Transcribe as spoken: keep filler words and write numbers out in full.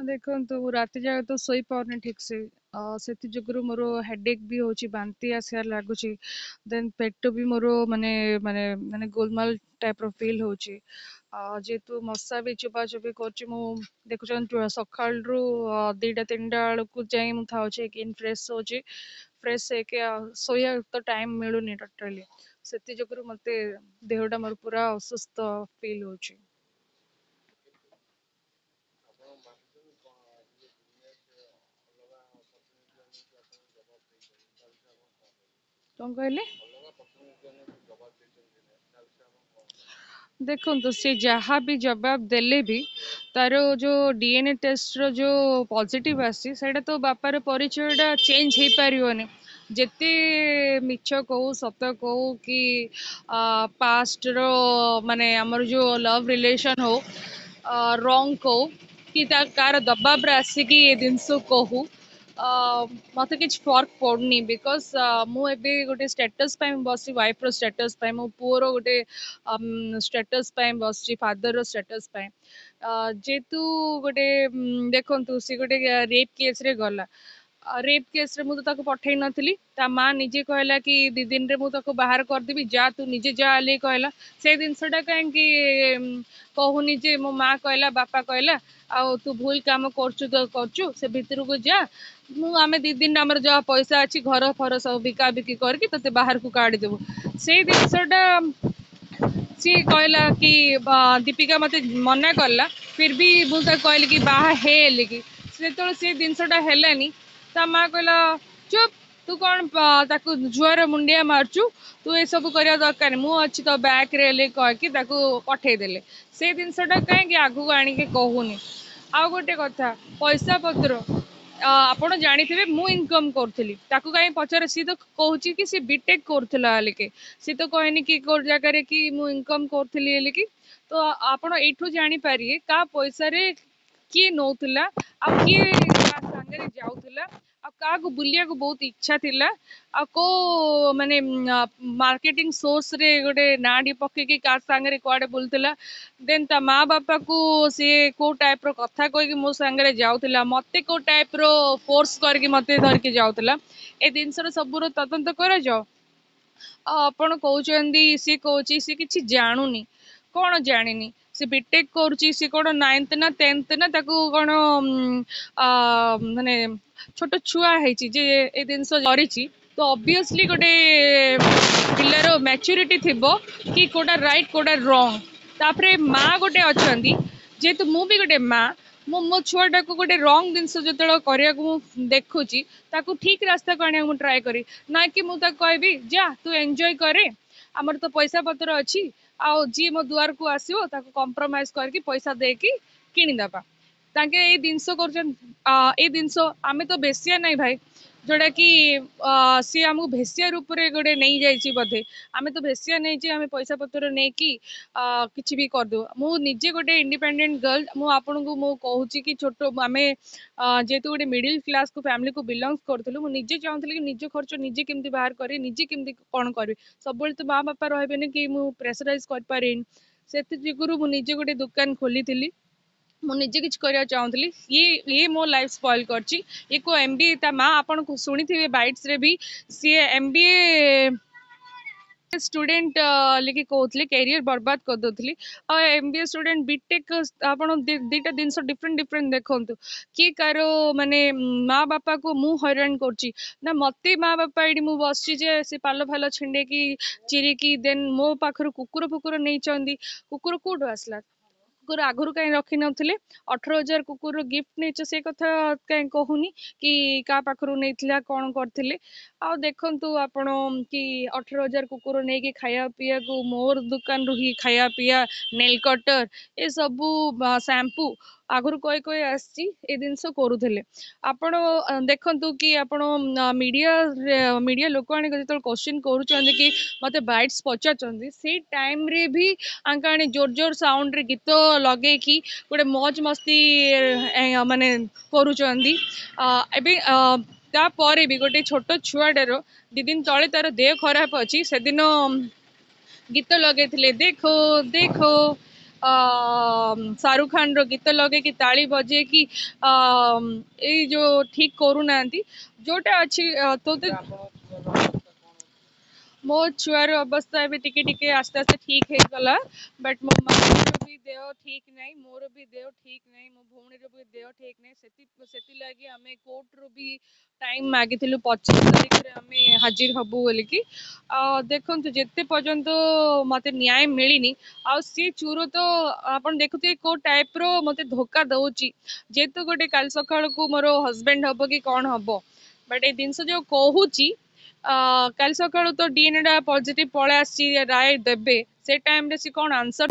ଦେଖନ୍ତୁ, ମୁଁ ରାତି ଯାକ ତ ଶୋଇପାରୁନି ଠିକ୍ ସେ। ସେଥି ଯୋଗୁରୁ ମୋର ହେଡ଼େକ୍ ବି ହେଉଛି, ବାନ୍ତି ଆସିବାର ଲାଗୁଛି, ଦେନ୍ ପେଟ ବି ମୋର ମାନେ ମାନେ ମାନେ ଗୋଲମାଲ ଟାଇପ୍ର ଫିଲ୍ ହେଉଛି। ଯେହେତୁ ମଶା ବି ଚୋବାଚୋବି କରୁଛି, ମୁଁ ଦେଖୁଛନ୍ତି ସକାଳରୁ ଦୁଇଟା ତିନିଟା ବେଳକୁ ଯାଇ ମୁଁ ଥାଉଛି, ଏଗେନ୍ ଫ୍ରେଶ୍ ହେଉଛି, ଫ୍ରେଶ୍ ହେଇକି ଶୋଇବା ତ ଟାଇମ୍ ମିଳୁନି ଟୋଟାଲି। ସେଥି ଯୋଗୁରୁ ମୋତେ ଦେହଟା ମୋର ପୁରା ଅସୁସ୍ଥ ଫିଲ୍ ହେଉଛି। କ'ଣ କହିଲେ? ଦେଖନ୍ତୁ, ସେ ଯାହା ବି ଜବାବ ଦେଲେ ବି ତାର ଯେଉଁ ଡି ଏନ୍ ଏ ଟେଷ୍ଟର ଯେଉଁ ପଜିଟିଭ୍ ଆସିଛି, ସେଇଟା ତ ବାପାର ପରିଚୟଟା ଚେଞ୍ଜ ହେଇପାରିବନି। ଯେତେ ମିଛ କହୁ ସତ କହୁ କି ପାଷ୍ଟର ମାନେ ଆମର ଯେଉଁ ଲଭ୍ ରିଲେସନ୍ ହଉ, ରଙ୍ଗ କହୁ କି ତା କାହାର ଦବାବରେ ଆସିକି ଏ ଜିନିଷ କହୁ, ମୋତେ କିଛି ଫର୍କ ପଡ଼ୁନି। Because ମୁଁ ଏବେ ଗୋଟେ ଷ୍ଟାଟସ୍ ପାଇଁ ବସିଛି, ୱାଇଫ୍ର ଷ୍ଟାଟସ୍ ପାଇଁ, ମୋ ପୁଅର ଗୋଟେ ଷ୍ଟାଟସ୍ ପାଇଁ ବସିଛି, ଫାଦରର ଷ୍ଟାଟସ୍ ପାଇଁ। ଯେହେତୁ ଗୋଟେ ଦେଖନ୍ତୁ, ସେ ଗୋଟେ ରେପ୍ କେସ୍ରେ ଗଲା। ରେପ୍ କେସ୍ରେ ମୁଁ ତ ତାକୁ ପଠେଇ ନଥିଲି, ତା ମା ନିଜେ କହିଲା କି ଦୁଇ ଦିନରେ ମୁଁ ତାକୁ ବାହାର କରିଦେବି, ଯା ତୁ ନିଜେ ଯା ବୋଲି କହିଲା। ସେ ଜିନିଷଟା କାହିଁକି କହୁନି ଯେ ମୋ ମା କହିଲା, ବାପା କହିଲା, ଆଉ ତୁ ଭୁଲ କାମ କରୁଛୁ ତ କରୁଛୁ, ସେ ଭିତରକୁ ଯା, ମୁଁ ଆମେ ଦୁଇ ଦିନ ଆମର ଯାହା ପଇସା ଅଛି ଘର ଫର ସବୁ ବିକା ବିକି କରିକି ତୋତେ ବାହାରକୁ କାଢ଼ିଦେବୁ। ସେଇ ଜିନିଷଟା ସିଏ କହିଲା କି ଦୀପିକା ମୋତେ ମନା କଲା, ଫିର୍ ବି ମୁଁ ତାକୁ କହିଲି କି ବାହା ହେଲି କି ଯେତେବେଳେ ସେ ଜିନିଷଟା ହେଲାନି, ତା ମା କହିଲା ଚୁପ୍, ତୁ କ'ଣ ତାକୁ ଝୁଅର ମୁଣ୍ଡିଆ ମାରୁଛୁ, ତୁ ଏସବୁ କରିବା ଦରକାର, ମୁଁ ଅଛି ତୋ ବ୍ୟାକ୍ରେ ହେଲେ କହିକି ତାକୁ ପଠେଇଦେଲେ। ସେ ଜିନିଷଟା କାହିଁକି ଆଗକୁ ଆଣିକି କହୁନି? ଆଉ ଗୋଟେ କଥା, ପଇସା ପତ୍ର ଆପଣ ଜାଣିଥିବେ ମୁଁ ଇନକମ୍ କରୁଥିଲି, ତାକୁ କାହିଁ ପଚାର? ସିଏ ତ କହୁଛି କି ସିଏ ବିଟେକ୍ କରୁଥିଲା ବୋଲିକି, ସିଏ ତ କହିନି କି କୋଉ ଜାଗାରେ କି ମୁଁ ଇନକମ୍ କରୁଥିଲି ବୋଲିକି। ତ ଆପଣ ଏଇଠୁ ଜାଣିପାରିବେ କାହା ପଇସାରେ କିଏ ନଉଥିଲା, ଆଉ କିଏ କାହା ସାଙ୍ଗରେ ଯାଉଥିଲା, ଆଉ କାହାକୁ ବୁଲିବାକୁ ବହୁତ ଇଚ୍ଛା ଥିଲା, ଆଉ କୋଉ ମାନେ ମାର୍କେଟିଂ ସୋର୍ସରେ ଗୋଟେ ନାଁଟି ପକେଇକି କାହା ସାଙ୍ଗରେ କୁଆଡ଼େ ବୁଲୁଥିଲା। ଦେନ୍ ତା ମା ବାପାକୁ ସିଏ କୋଉ ଟାଇପ୍ର କଥା କହିକି ମୋ ସାଙ୍ଗରେ ଯାଉଥିଲା, ମୋତେ କୋଉ ଟାଇପ୍ର ଫୋର୍ସ କରିକି ମୋତେ ଧରିକି ଯାଉଥିଲା, ଏ ଜିନିଷର ସବୁର ତଦନ୍ତ କରାଯାଉ। ଆଉ ଆପଣ କହୁଛନ୍ତି ସିଏ କହୁଛି ସିଏ କିଛି ଜାଣୁନି। କ'ଣ ଜାଣିନି? ସେ ବିଟେକ୍ କରୁଛି, ସେ କ'ଣ ନାଇନ୍ଥ ନା ଟେନ୍ଥ ନା ତାକୁ କ'ଣ ମାନେ ଛୋଟ ଛୁଆ ହେଇଛି ଯେ ଏ ଜିନିଷ କରିଛି? ତ ଅବଭିୟସଲି ଗୋଟେ ପିଲାର ମ୍ୟାଚୁରିଟି ଥିବ କି କୋଉଟା ରାଇଟ୍ କୋଉଟା ରଙ୍ଗ। ତାପରେ ମା ଗୋଟେ ଅଛନ୍ତି, ଯେହେତୁ ମୁଁ ବି ଗୋଟେ ମା, ମୁଁ ମୋ ଛୁଆଟାକୁ ଗୋଟେ ରଙ୍ଗ ଜିନିଷ ଯେତେବେଳେ କରିବାକୁ ମୁଁ ଦେଖୁଛି, ତାକୁ ଠିକ୍ ରାସ୍ତାକୁ ଆଣିବାକୁ ମୁଁ ଟ୍ରାଏ କରିବି, ନା କି ମୁଁ ତାକୁ କହିବି ଯା ତୁ ଏନ୍ଜୟ କରେ, ଆମର ତ ପଇସା ପତ୍ର ଅଛି, ଆଉ ଯିଏ ମୋ ଦୁଆରକୁ ଆସିବ ତାକୁ କମ୍ପ୍ରମାଇଜ କରିକି ପଇସା ଦେଇକି କିଣିଦେବା। ତାଙ୍କେ ଏଇ ଜିନିଷ କରୁଛନ୍ତି। ଏଇ ଜିନିଷ ଆମେ ତ ବେଶିଆ ନାଇଁ ଭାଇ, ଯୋଉଟା କି ସିଏ ଆମକୁ ଭେସିଆ ରୂପରେ ଗୋଟେ ନେଇଯାଇଛି ବୋଧେ। ଆମେ ତ ଭେସିଆ ନେଇଛି, ଆମେ ପଇସା ପତ୍ର ନେଇକି କିଛି ବି କରିଦେବୁ। ମୁଁ ନିଜେ ଗୋଟେ ଇଣ୍ଡିପେଣ୍ଡେଣ୍ଟ ଗର୍ଲ। ମୁଁ ଆପଣଙ୍କୁ ମୁଁ କହୁଛି କି ଛୋଟ ଆମେ ଯେହେତୁ ଗୋଟେ ମିଡିଲ କ୍ଲାସକୁ ଫ୍ୟାମିଲିକୁ ବିଲଙ୍ଗସ୍ କରୁଥିଲୁ, ମୁଁ ନିଜେ ଚାହୁଁଥିଲି କି ନିଜ ଖର୍ଚ୍ଚ ନିଜେ କେମିତି ବାହାର କରିବି, ନିଜେ କେମିତି କ'ଣ କରିବି। ସବୁବେଳେ ତ ମା ବାପା ରହିବେନି କି ମୁଁ ପ୍ରେସରାଇଜ କରିପାରିବିନି। ସେଥି ଯୋଗୁରୁ ମୁଁ ନିଜେ ଗୋଟେ ଦୋକାନ ଖୋଲିଥିଲି, ମୁଁ ନିଜେ କିଛି କରିବାକୁ ଚାହୁଁଥିଲି। ଇଏ ଇଏ ମୋ ଲାଇଫ୍ ସ୍ପଏଲ୍ କରିଛି। ଇଏ କୋଉ ଏମ୍ ବି ଏ, ତା ମା ଆପଣ ଶୁଣିଥିବେ ବାଇଟ୍ସରେ ବି, ସିଏ ଏମ୍ ବି ଏ ଷ୍ଟୁଡେଣ୍ଟ ଲେଖି କହୁଥିଲେ, କ୍ୟାରିୟର ବର୍ବାଦ କରିଦେଉଥିଲି। ଆଉ ଏମ୍ ବି ଏ ଷ୍ଟୁଡେଣ୍ଟ, ବିଟେକ୍, ଆପଣ ଦୁଇଟା ଜିନିଷ ଡିଫରେଣ୍ଟ ଡିଫରେଣ୍ଟ ଦେଖନ୍ତୁ। କିଏ କାହାର ମାନେ ମା ବାପାକୁ ମୁଁ ହଇରାଣ କରୁଛି ନା ମୋତେ ମା ବାପା? ଏଇଠି ମୁଁ ବସିଛି ଯେ ସେ ପାଲ ଫାଲ ଛିଣ୍ଡେଇକି ଚିରିକି ଦେନ୍ ମୋ ପାଖରୁ କୁକୁର ଫୁକୁର ନେଇଛନ୍ତି। କୁକୁର କୋଉଠୁ ଆସିଲା? କୁକୁର ଆଗରୁ କାହିଁ ରଖିନଥିଲେ? ଅଠର ହଜାର କୁକୁରର ଗିଫ୍ଟ ନେଇଛ, ସେ କଥା କାହିଁ କହୁନି କି କାହା ପାଖରୁ ନେଇଥିଲା, କ'ଣ କରିଥିଲେ? ଆଉ ଦେଖନ୍ତୁ ଆପଣ କି ଅଠର ହଜାର କୁକୁର ନେଇକି ଖାଇବା ପିଇବାକୁ ମୋର ଦୋକାନରୁ ହିଁ ଖାଇବା ପିଇବା, ନେଲ୍ କଟର, ଏସବୁ ସାମ୍ପୁ ଆଗରୁ କହି କହି ଆସିଛି, ଏ ଜିନିଷ କରୁଥିଲେ। ଆପଣ ଦେଖନ୍ତୁ କି ଆପଣ ମିଡ଼ିଆ ମିଡ଼ିଆ ଲୋକ ଆଣିକି ଯେତେବେଳେ କୋଶ୍ଚିନ୍ କରୁଛନ୍ତି କି ମୋତେ ବାଇଟ୍ସ ପଚାରୁଛନ୍ତି, ସେଇ ଟାଇମ୍ରେ ବି ଆଙ୍କ ଆଣି ଜୋର ଜୋର ସାଉଣ୍ଡରେ ଗୀତ ଲଗେଇକି ଗୋଟେ ମୌଜ ମସ୍ତି ମାନେ କରୁଛନ୍ତି। ଏବେ ତାପରେ ବି ଗୋଟେ ଛୋଟ ଛୁଆଟାର ଦୁଇ ଦିନ ତଳେ ତାର ଦେହ ଖରାପ ଅଛି, ସେଦିନ ଗୀତ ଲଗେଇଥିଲେ ଦେଖୋ ଦେଖୋ। ଶାହରୁଖ ଖାନର ଗୀତ ଲଗେଇକି ତାଳି ବଜେଇକି ଏଇ ଯୋଉ ଠିକ କରୁନାହାନ୍ତି ଯୋଉଟା ଅଛି। ତ ମୋ ଛୁଆର ଅବସ୍ଥା ଏବେ ଟିକେ ଟିକେ ଆସ୍ତେ ଆସ୍ତେ ଠିକ ହେଇଗଲା, ବଟ୍ ମୋ ମାଆର ବି ଦେହ ଠିକ ନାହିଁ, ମୋର ବି ଦେହ ଠିକ ନାହିଁ, ମୋ ଭଉଣୀର ବି ଦେହ ଠିକ ନାହିଁ। ସେଥି ସେଥିଲାଗି ଆମେ କୋର୍ଟରୁ ବି ଟାଇମ୍ ମାଗିଥିଲୁ, ପଚିଶ ତାରିଖରେ ଆମେ ହାଜିର ହବୁ ବୋଲିକି। ଆଉ ଦେଖନ୍ତୁ, ଯେତେ ପର୍ଯ୍ୟନ୍ତ ମତେ ନ୍ୟାୟ ମିଳିନି, ଆଉ ସିଏ ଚୋର ତ ଆପଣ ଦେଖୁଥିବେ କୋଉ ଟାଇପର ମତେ ଧୋକା ଦଉଛି। ଯେହେତୁ ଗୋଟେ କାଲି ସକାଳକୁ ମୋର ହଜବେଣ୍ଡ ହବ କି କଣ ହବ, ବଟ୍ ଏଇ ଜିନିଷ ଯୋଉ କହୁଛି, କାଲି ସକାଳୁ ତ ଡିଏନଏ ଟା ପଜିଟିଭ ପଳେଇ ଆସିଛି, ରାୟ ଦେବେ, ସେ ଟାଇମରେ ସେ କଣ ଆନ୍ସର